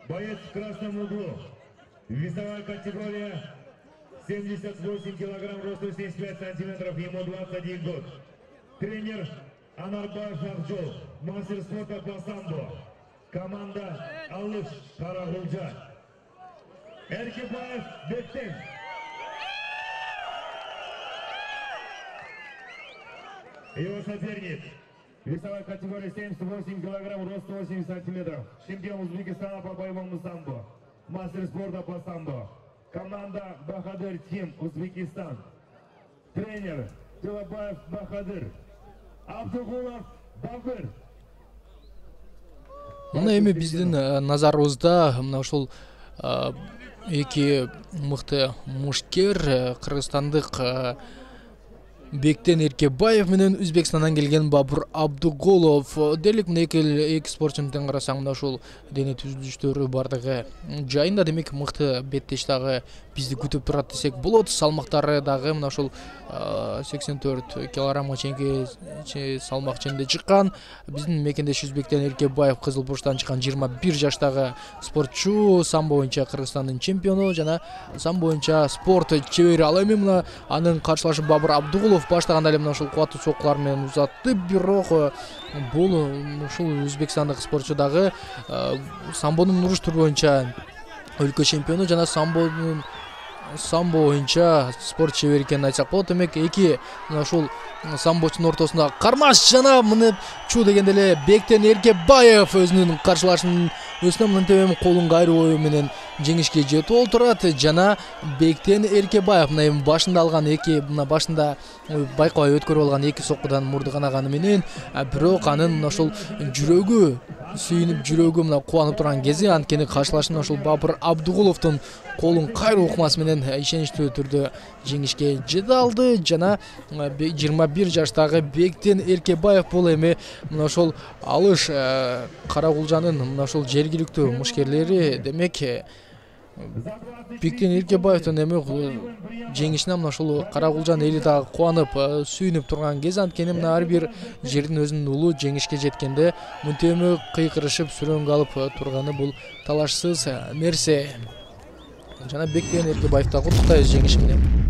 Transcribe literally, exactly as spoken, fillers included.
Боец в красном углу. Весовая категория семьдесят восемь килограмм, рост семьдесят пять сантиметров, ему двадцать один год. Тренер Анарбаев Акжол, мастер спорта по самбо. Команда Алыш Карагулжа. Эркебаев Бектен. Его соперник. Весовая категория семьдесят восемь килограмм, рост восемьдесят сантиметров. Чемпион Узбекистана по боевому самбо. Мастер спорта по самбо. Команда Бахадыр Тим, Узбекистан. Тренер Тилабаев Бахадыр. Абдугулов Бабыр. Мына эми биздин назарыбызда мына ушул эки мыкты мушкер, кыргызстандык Бектен Эркебаев менен Өзбекстандан келген Бабыр Абдуголов. Дерлик мына эки спортчуну тең карасаң, мына ушул дене түзүлүштөрү бардыгы жайында, демек мыкты беттеш дагы бизди күтүп турат десек болот. Салмактары дагы мына ушул сексен төрт килограммга чейинки салмак ченинде чыккан. Биздин мекендешибиз Бектен Эркебаев Кызыл Бурчтан чыккан жыйырма бир жаштагы спортчу, самбо боюнча Кыргызстандын чемпиону жана самбо боюнча спорт чебери. Ал эми мына анын каршылашы Бабыр Абдуголов баштаганда эле мына ушул кубаттуу соккулар менен узатты, бирок бул ушул өзбекстандык спортчу дагы самбонун уруш түрү боюнча өлкө чемпиону жана самбонун самбо боюнча спорт чебери экенин айтсак болот. Демек эки мына ушул самбочунун ортосунда кармаш жана мынчу дегенде эле Бектен Эркебаев өзүнүн каршылашынын өсүнө мынтип колун кайруу менен жеңишке жетип олтурат. Жана Бектен Эркебаев мына эми башында алган эки мына башында байкабай өткөрүп алган эки соккудан мурду канаганы менен, бирок анын мына ушул жүрөгү сүйүнүп, жүрөгү мына кубанып турган кези, анткени каршылашын ушул Бабыр Абдуголовдун колун кайруу ыкмасы менен ишеничтүү түрдө жеңишке жете алды. Жана жыйырма бир жаштагы Бектен Эркебаев бул эми мына ошол Алыш Карагулжанын мына ошол жергиликтүү мушкерлери. Демек Бектен Эркебаевдин эми жеңишине мына ушул Карагулжан эли дагы кубанып, сүйүнүп турган кез, анткени мына ар бир жердин өзүнүн улу жеңишке жеткенде мынтеме кыйкырышып, сүрөнгө алып турганы бул талашсыз нерсе. Жана Бектен Эркебаевди куттуктайбыз жеңиши менен.